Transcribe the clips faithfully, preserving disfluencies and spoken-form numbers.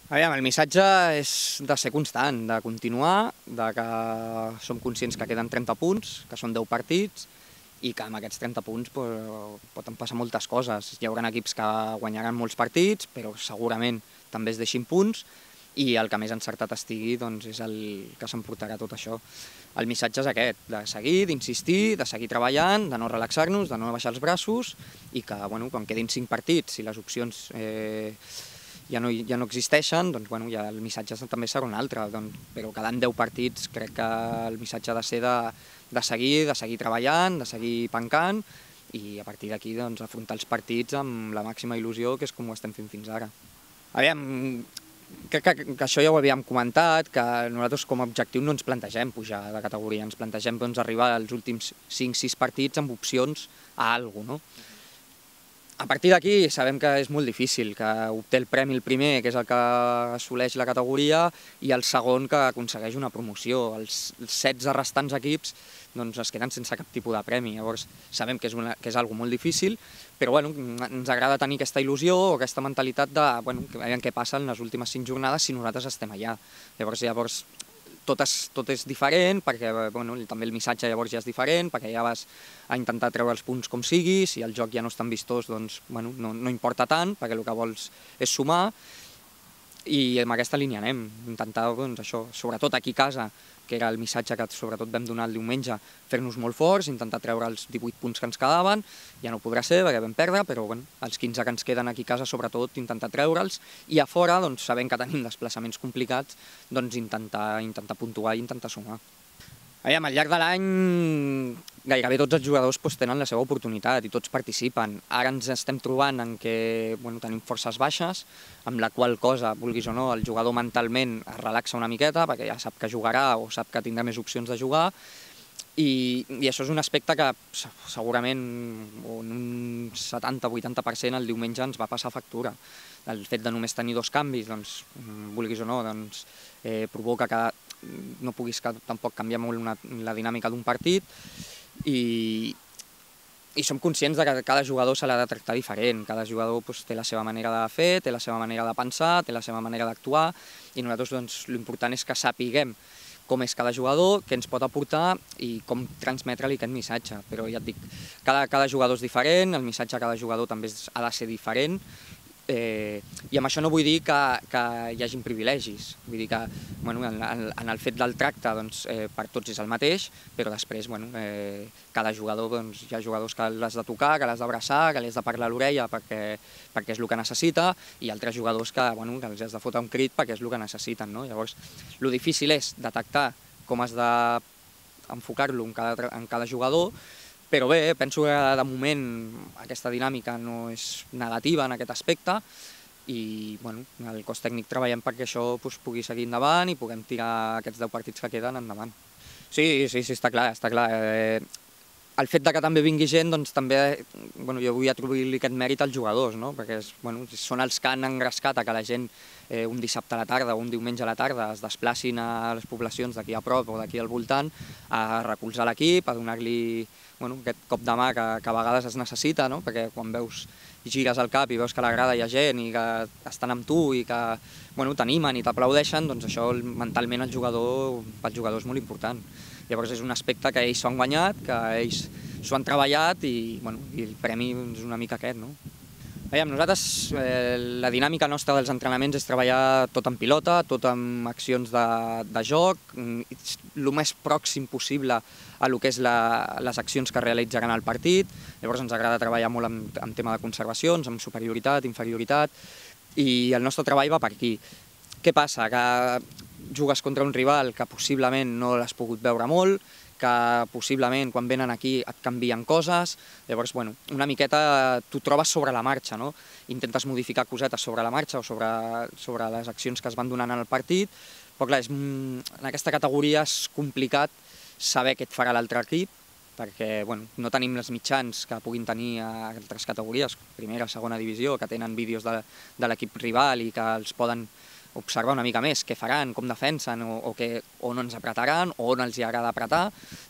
Aviam, el missatge és de ser constant, de continuar, de que som conscients que queden trenta punts, que són deu partits, i que amb aquests trenta punts pues, poden passar moltes coses. Hi haurà equips que guanyaran molts partits, però segurament també es deixin punts, i el que més encertat estigui doncs, és el que s'emportarà tot això. El missatge és aquest, de seguir, d'insistir, de seguir treballant, de no relaxar-nos, de no baixar els braços, i que bueno, quan quedin cinc partits i les opcions eh, ja no, ja no existeixen, doncs bueno, ja el missatge també serà un altre, doncs, però quedant deu partits crec que el missatge ha de ser de, de seguir, de seguir treballant, de seguir pencant, i a partir d'aquí doncs, afrontar els partits amb la màxima il·lusió, que és com ho estem fent fins ara. Aviam, crec que, que això ja ho havíem comentat, que nosaltres com a objectiu no ens plantegem pujar de categoria, ens plantegem doncs, arribar als últims cinc sis partits amb opcions a alguna cosa, no? A partir d'aquí sabem que és molt difícil, que obté el premi el primer, que és el que assoleix la categoria, i el segon que aconsegueix una promoció. Els setze restants equips doncs, es queden sense cap tipus de premi. Llavors sabem que és, una, que és algo molt difícil, però bueno, ens agrada tenir aquesta il·lusió o aquesta mentalitat de bueno, que veiem què passa en les últimes cinc jornades si nosaltres estem allà. Llavors, llavors tot és, tot és diferent, perquè bueno, també el missatge llavors ja és diferent, perquè ja vas a intentar treure els punts com sigui, si el joc ja no és tan vistós, doncs bueno, no, no importa tant, perquè el que vols és sumar, i amb aquesta línia anem, intentar, doncs, això, sobretot aquí a casa, que era el missatge que sobretot vam donar el diumenge, fer-nos molt forts, intentar treure els divuit punts que ens quedaven, ja no podrà ser perquè vam perdre, però bueno, els quinze que ens queden aquí a casa sobretot intentar treure'ls, i a fora, doncs, sabent que tenim desplaçaments complicats, doncs intentar, intentar puntuar i intentar sumar. Aviam, al llarg de l'any gairebé tots els jugadors doncs, tenen la seva oportunitat i tots participen. Ara ens estem trobant en què bueno, tenim forces baixes, amb la qual cosa, vulguis o no, el jugador mentalment es relaxa una miqueta perquè ja sap que jugarà o sap que tindrà més opcions de jugar, i, i això és un aspecte que segurament en un setanta vuitanta per cent el diumenge ens va passar factura. El fet de només tenir dos canvis, doncs, vulguis o no, doncs, eh, provoca que no puguis tampoc canviar molt una, la dinàmica d'un partit, i, i som conscients de que cada jugador se l'ha de tractar diferent, cada jugador doncs, té la seva manera de fer, té la seva manera de pensar, té la seva manera d'actuar, i nosaltres doncs, l'important és que sapiguem com és cada jugador, què ens pot aportar i com transmetre-li aquest missatge. Però ja et dic, cada, cada jugador és diferent, el missatge a cada jugador també ha de ser diferent, Eh, i amb això no vull dir que, que hi hagin privilegis, vull dir que bueno, en, en el fet del tracte doncs, eh, per tots és el mateix, però després bueno, eh, cada jugador, doncs, hi ha jugadors que l'has de tocar, que l'has d'abraçar, que li has de parlar a l'orella perquè, perquè és el que necessita, i altres jugadors que, bueno, que els has de fotre un crit perquè és el que necessiten. No? Llavors, el difícil és detectar com has d'enfocar-lo en, cada, en cada jugador. Però bé, penso que de moment aquesta dinàmica no és negativa en aquest aspecte, i bueno, el cos tècnic treballem perquè això doncs, pugui seguir endavant i puguem tirar aquests deu partits que queden endavant. Sí, sí, sí, està clar, està clar. Eh, el fet de que també vingui gent, doncs també bueno, jo vull atribuir-li aquest mèrit als jugadors, no? Perquè és, bueno, són els que han engrescat a que la gent eh, un dissabte a la tarda o un diumenge a la tarda es desplacin a les poblacions d'aquí a prop o d'aquí al voltant a recolzar l'equip, a donar-li bueno, aquest cop de mà que, que a vegades es necessita, no? Perquè quan veus i gires el cap i veus que a la grada hi ha gent i que estan amb tu i que bueno, t'animen i t'aplaudeixen, doncs això mentalment el jugador, pel jugador és molt important. Llavors és un aspecte que ells s'ho han guanyat, que ells s'ho han treballat, i, bueno, i el premi és una mica aquest. No? Veiem, nosaltres, eh, la dinàmica nostra dels entrenaments és treballar tot en pilota, tot amb accions de, de joc, el més pròxim possible a el que és la, les accions que realitzaran al partit. Llavors ens agrada treballar molt en, en tema de conservacions, amb superioritat, inferioritat, i el nostre treball va per aquí. Què passa? Que jugues contra un rival que possiblement no l'has pogut veure molt, que possiblement quan venen aquí et canvien coses, llavors bueno, una miqueta t'ho trobes sobre la marxa, no? Intentes modificar cosetes sobre la marxa o sobre, sobre les accions que es van donant en el partit, però clar, és, en aquesta categoria és complicat saber què et farà l'altre equip, perquè bueno, no tenim els mitjans que puguin tenir a altres categories, primera, segona divisió, que tenen vídeos de, de l'equip rival i que els poden observar una mica més què faran, com defensen, o, o que, on ens apretaran, o on els hi agrada apretar,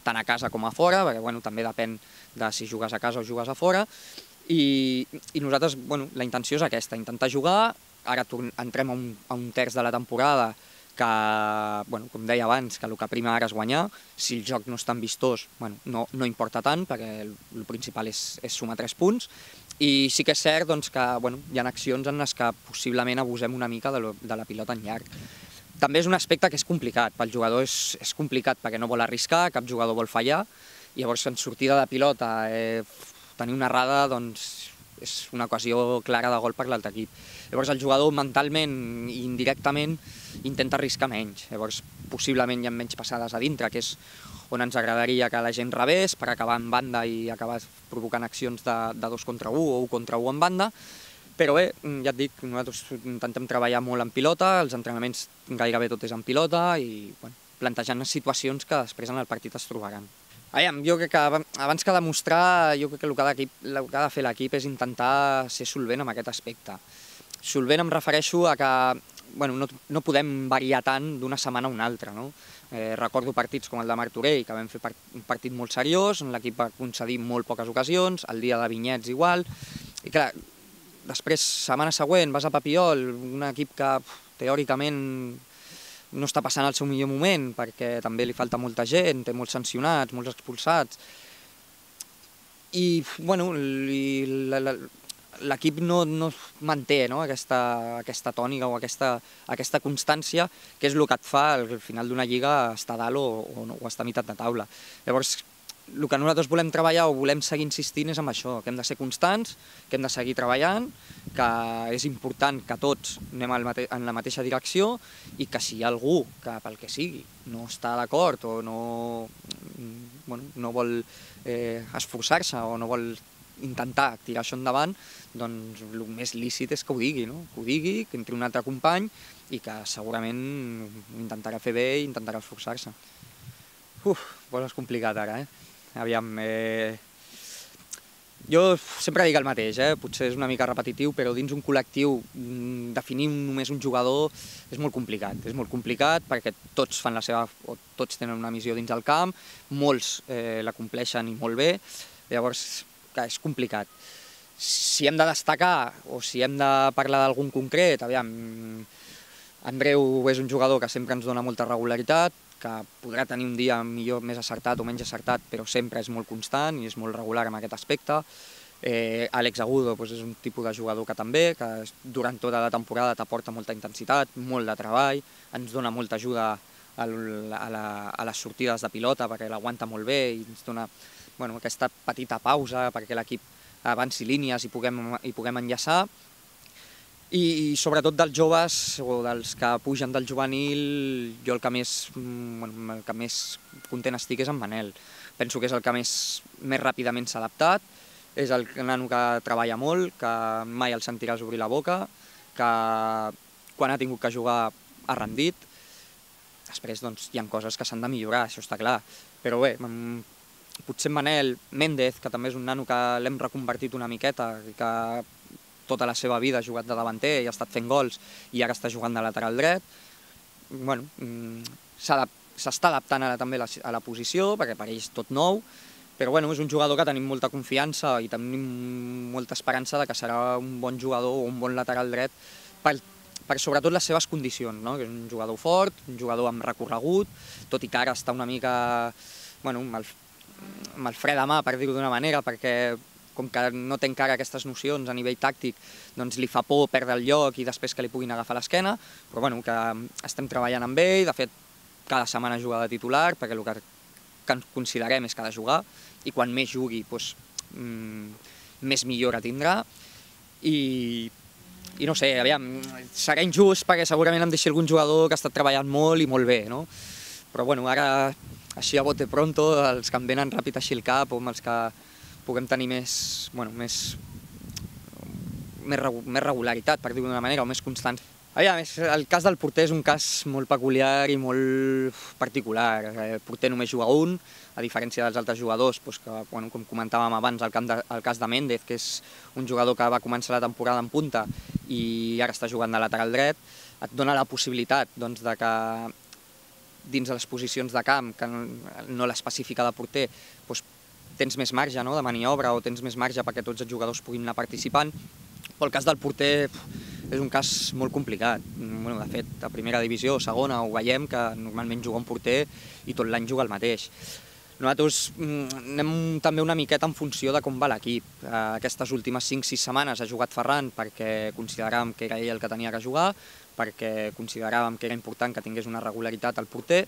tant a casa com a fora, perquè bueno, també depèn de si jugues a casa o jugues a fora, i, i nosaltres, bueno, la intenció és aquesta, intentar jugar ara entrem a un, a un terç de la temporada que, bueno, com deia abans, que el que prima ara és guanyar. Si el joc no és tan vistós, bueno, no, no importa tant, perquè el, el principal és, és sumar tres punts. I sí que és cert doncs, que bueno, hi ha accions en les que possiblement abusem una mica de, lo, de la pilota en llarg. També és un aspecte que és complicat, pel jugador és, és complicat perquè no vol arriscar, cap jugador vol fallar, i llavors en sortida de pilota eh, tenir una errada doncs, és una ocasió clara de gol per l'altre equip. Llavors el jugador mentalment i indirectament intenta arriscar menys. Llavors possiblement hi ha menys passades a dintre, que és on ens agradaria que la gent rebés per acabar en banda i acabar provocant accions de, de dos contra un o un contra un en banda. Però bé, ja et dic, nosaltres intentem treballar molt en pilota, els entrenaments gairebé tot és en pilota i bueno, plantejant situacions que després en el partit es trobaran. Aviam, jo crec que abans que demostrar, jo crec que el que ha de, el que ha de fer l'equip és intentar ser solvent en aquest aspecte. Solvent em refereixo a que bueno, no, no podem variar tant d'una setmana a una altra. No? Eh, recordo partits com el de Martorell, que vam fer part, un partit molt seriós, on l'equip va concedir molt poques ocasions, el dia de Vinyets igual, i clar, després, setmana següent, vas a Papiol, un equip que teòricament no està passant el seu millor moment, perquè també li falta molta gent, té molts sancionats, molts expulsats. I, bueno, l'equip no, no manté no, aquesta, aquesta tònica o aquesta, aquesta constància, que és el que et fa al final d'una lliga estar a dalt o, o, o estar a meitat de taula. Llavors, el que nosaltres volem treballar o volem seguir insistint és en això, que hem de ser constants, que hem de seguir treballant, que és important que tots anem en la mateixa direcció i que si hi ha algú que pel que sigui no està d'acord o no, bueno, no vol eh, esforçar-se o no vol intentar tirar això endavant, doncs el més lícit és que ho digui, no? Que ho digui, que entri un altre company i que segurament intentarà fer bé i intentarà esforçar-se. Uf, doncs és complicat ara, eh? Aviam, eh... jo sempre dic el mateix, eh? Potser és una mica repetitiu, però dins un col·lectiu definir només un jugador és molt complicat. És molt complicat perquè tots fan la seva, o tots tenen una missió dins el camp, molts eh, la compleixen i molt bé, llavors clar, és complicat. Si hem de destacar o si hem de parlar d'algun concret, aviam, Andreu és un jugador que sempre ens dona molta regularitat, que podrà tenir un dia millor, més acertat o menys acertat, però sempre és molt constant i és molt regular en aquest aspecte. Eh, Àlex Agudo doncs, és un tipus de jugador que també, que durant tota la temporada t'aporta molta intensitat, molt de treball, ens dona molta ajuda a, la, a les sortides de pilota perquè l'aguanta molt bé i ens dona bueno, aquesta petita pausa perquè l'equip avanci línies i puguem, i puguem enllaçar. I sobretot dels joves o dels que pugen del juvenil, jo el que més, bueno, el que més content estic és en Manel. Penso que és el que més, més ràpidament s'ha adaptat, és el nano que treballa molt, que mai el sentiràs obrir la boca, que quan ha tingut que jugar ha rendit. Després doncs, hi ha coses que s'han de millorar, això està clar. Però bé, potser Manel, Méndez, que també és un nano que l'hem reconvertit una miqueta, i que tota la seva vida ha jugat de davanter i ha estat fent gols i ara està jugant de lateral dret. Bueno, s'està adaptant ara també a la posició perquè per ell és tot nou, però bueno, és un jugador que tenim molta confiança i tenim molta esperança de que serà un bon jugador o un bon lateral dret per, per sobretot les seves condicions, no? Que és un jugador fort, un jugador amb recorregut, tot i que ara està una mica bueno, amb, el, amb el fre de mà, per dir-ho d'una manera, perquè com que no té encara aquestes nocions a nivell tàctic, doncs li fa por perdre el lloc i després que li puguin agafar l'esquena, però bueno, que estem treballant amb ell, de fet, cada setmana juga de titular, perquè el que considerem és que ha de jugar, i quan més jugui, doncs, mmm, més millora tindrà, i, i no sé, aviam, serà injust perquè segurament em deixi algun jugador que ha estat treballant molt i molt bé, no? Però bueno, ara, així a bote pronto, els que em venen ràpid així al cap, o amb els que puguem tenir més, bueno, més, més, més regularitat, per dir-ho d'una manera, o més constant. Aviam, el cas del porter és un cas molt peculiar i molt particular. El porter només juga un, a diferència dels altres jugadors, doncs que, bueno, com comentàvem abans, el, camp de, el cas de Méndez, que és un jugador que va començar la temporada en punta i ara està jugant de lateral dret, et dona la possibilitat doncs, de que dins de les posicions de camp, que no, no l'específica de porter, doncs, tens més marge no, de maniobra o tens més marge perquè tots els jugadors puguin anar participant. Però el cas del porter és un cas molt complicat. Bueno, de fet, a primera divisió o segona ho veiem que normalment juga un porter i tot l'any juga el mateix. Nosaltres anem també una miqueta en funció de com va l'equip. Aquestes últimes cinc sis setmanes ha jugat Ferran perquè consideràvem que era ell el que tenia que jugar, perquè consideràvem que era important que tingués una regularitat al porter.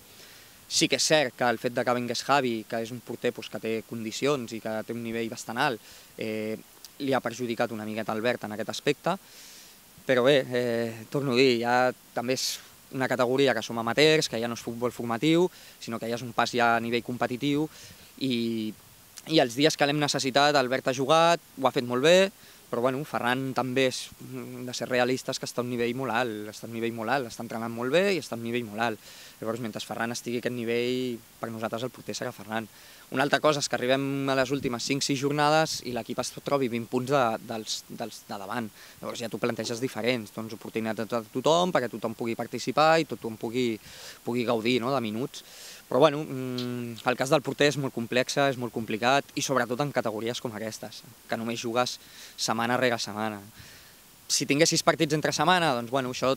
Sí que és cert que el fet de que vingués Javi, que és un porter que té condicions i que té un nivell bastant alt, li ha perjudicat una miqueta Albert en aquest aspecte, però bé, torno a dir, ja també és una categoria que som amateurs, que ja no és futbol formatiu, sinó que ja és un pas ja a nivell competitiu, i, i els dies que l'hem necessitat, Albert ha jugat, ho ha fet molt bé, però bueno, Ferran també és de ser realistes que està a un nivell molt alt, està a un nivell molt alt, està entrenant molt bé i està a un nivell molt alt. Llavors, mentre Ferran estigui a aquest nivell, per nosaltres el porter serà Ferran. Una altra cosa és que arribem a les últimes cinc sis jornades i l'equip es trobi vint punts de, dels, dels de davant. Llavors ja t'ho planteges diferents, doncs oportunitats a tothom perquè tothom pugui participar i tothom pugui, pugui gaudir, no?, de minuts. Però bueno, el cas del porter és molt complex, és molt complicat i sobretot en categories com aquestes, que només jugues setmana rere setmana. Si tinguessis partits entre setmana, doncs bueno, això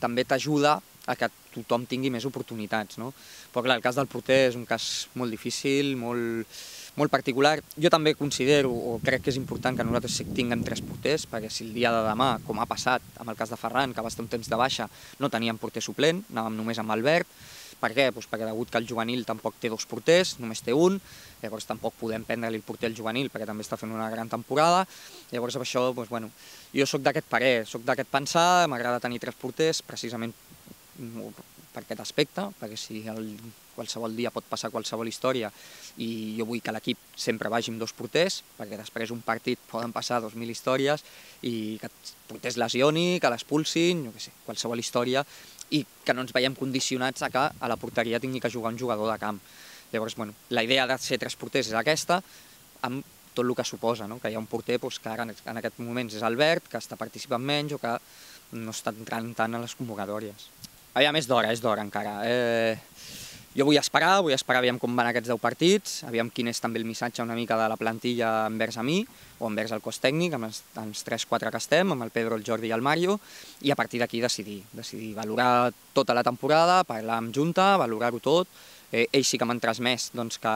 també t'ajuda a que tothom tingui més oportunitats, no? Però clar, el cas del porter és un cas molt difícil, molt, molt particular. Jo també considero, o crec que és important que nosaltres tinguem tres porters, perquè si el dia de demà, com ha passat amb el cas de Ferran, que va estar un temps de baixa, no teníem porter suplent, anàvem només amb Albert. Per què? Doncs perquè degut que el juvenil tampoc té dos porters, només té un, llavors tampoc podem prendre-li el porter al juvenil perquè també està fent una gran temporada. Llavors amb això, doncs, bueno, jo sóc d'aquest parer, sóc d'aquest pensar, m'agrada tenir tres porters precisament per aquest aspecte, perquè si el, qualsevol dia pot passar qualsevol història i jo vull que l'equip sempre vagi amb dos porters, perquè després un partit poden passar dos mil històries i que el porter es lesioni, que l'expulsin, jo què sé, qualsevol història, i que no ens veiem condicionats a que a la porteria tingui que jugar un jugador de camp. Llavors, bueno, la idea de ser tres porters és aquesta, amb tot el que suposa, no? Que hi ha un porter doncs, que ara en aquest moments és Albert, que està participant menys o que no està entrant tant a les convocatòries. Aviam, és d'hora, és d'hora encara. Eh, jo vull esperar, vull esperar aviam com van aquests deu partits, aviam quin és també el missatge una mica de la plantilla envers a mi, o envers el cos tècnic, amb els, els tres quatre que estem, amb el Pedro, el Jordi i el Mario, i a partir d'aquí decidir, decidir, valorar tota la temporada, parlar amb Junta, valorar-ho tot. Eh, ells sí que m'han transmès doncs, que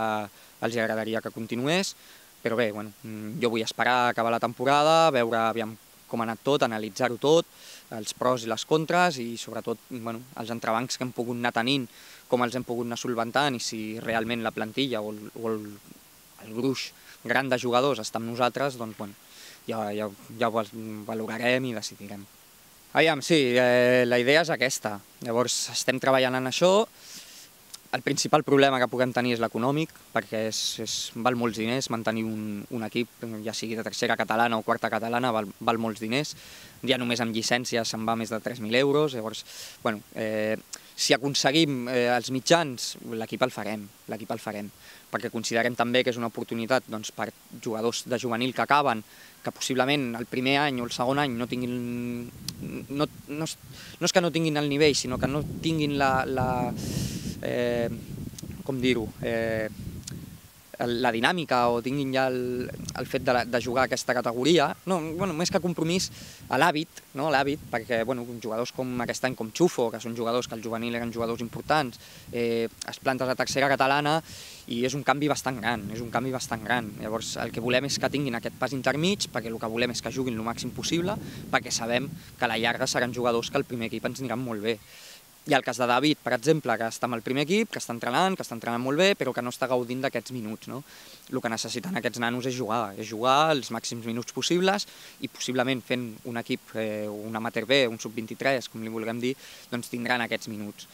els agradaria que continués, però bé, bueno, jo vull esperar a acabar la temporada, veure aviam com ha anat tot, analitzar-ho tot, els pros i les contres i sobretot bueno, els entrebancs que hem pogut anar tenint, com els hem pogut anar solventant i si realment la plantilla o el, o el, el gruix gran de jugadors està amb nosaltres, doncs bueno, ja, ja, ja ho valorarem i decidirem. Aviam, sí, eh, la idea és aquesta. Llavors estem treballant en això. El principal problema que puguem tenir és l'econòmic, perquè és, és, val molts diners mantenir un, un equip, ja sigui de tercera catalana o quarta catalana, val, val molts diners. Ja només amb llicències se'n va més de tres mil euros, llavors, bueno, eh, si aconseguim eh, els mitjans, l'equip el farem, l'equip el farem, perquè considerem també que és una oportunitat doncs, per jugadors de juvenil que acaben, que possiblement el primer any o el segon any no tinguin, no, no, no és que no tinguin el nivell, sinó que no tinguin la, la eh, com dir-ho, eh, la dinàmica o tinguin ja el, el fet de, de jugar a aquesta categoria, no, bueno, més que compromís, a l'hàbit, no, l'hàbit, perquè bueno, jugadors com aquest any com Xufo, que són jugadors que al juvenil eren jugadors importants, eh, es planten a tercera catalana i és un canvi bastant gran, és un canvi bastant gran. Llavors el que volem és que tinguin aquest pas intermig, perquè el que volem és que juguin el màxim possible, perquè sabem que a la llarga seran jugadors que al primer equip ens aniran molt bé. Hi ha el cas de David, per exemple, que està amb el primer equip, que està entrenant, que està entrenant molt bé, però que no està gaudint d'aquests minuts. No? El que necessiten aquests nanos és jugar, és jugar els màxims minuts possibles i possiblement fent un equip, eh, un amateur B, un sub vint-i-tres, com li vulguem dir, doncs tindran aquests minuts.